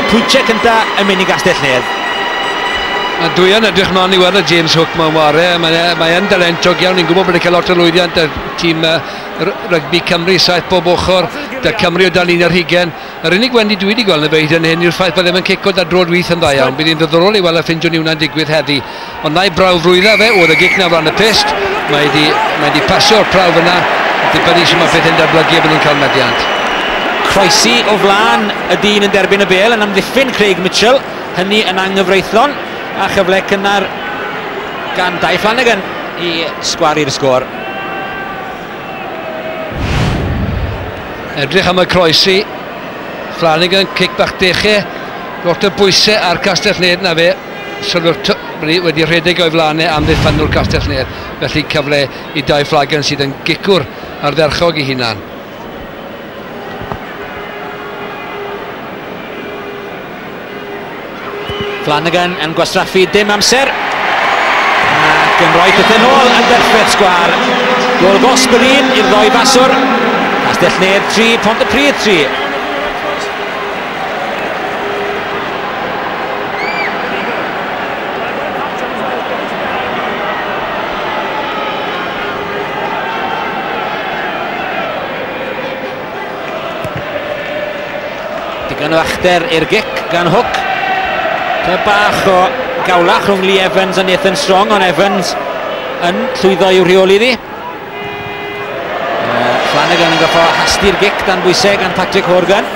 Y pwyntiau cyntaf yn mynd i Gastell-nedd. A dwi yn edrych mlaen i weld y James Hook mewn ware. Mae yn dalentog iawn. Ni'n gwybod bod e'n cael lot o lwyddiant y tîm rygbi Cymru, 7 bob ochr, da Cymru o dan 21. Yr unig wendid dwi wedi gweld yn y fe hyd yn hyn yw'r ffaith bod ddim yn cico da droed wyth yn dda iawn. Bydd hi'n ddiddorol i weld y ffindio ni hwnna'n digwydd heddi. Ond na'i brawf rwydda fe, oedd y gic na flan y pyst. Mae wedi pasio'r prawf yna. Dibynnu sut mae pethau'n datblygu a bydd nhw'n cael meddiant. Croesi o flaen y dyn yn derbyn y bêl yn amddiffyn Craig Mitchell. Hynny yn anghyfreithlon. A chyfle cynnar gan Dai Flanagan i sgwaru'r sgôr. Edrych am y croesi. Flanagan, cic bach deche. Lot o bwysau ar Castell-nedd na fe. Sylw'r wedi rhedeg o'i flaenau am ddiffynwr Castell-nedd. Felly cyfle i Dai Flanagan sydd yn gicwr ardderchog i hunan. Flanagan yn gwastraffu dim amser ac yn rhoi pethau nôl yn berffaith sgwâr. Gôl gosb yr un i'r ddoi faswr. Castell-nedd 3, Pontypridd 3. Digon o achder i'r gic gan Hook. Dyma bach o gawlach rhwng Lee Evans a Nathan Strong, ond Evans yn llwyddo i'w rheoli iddi. Flanagan yn goffo hastu'r gic dan bwysau gan Patrick Horgan.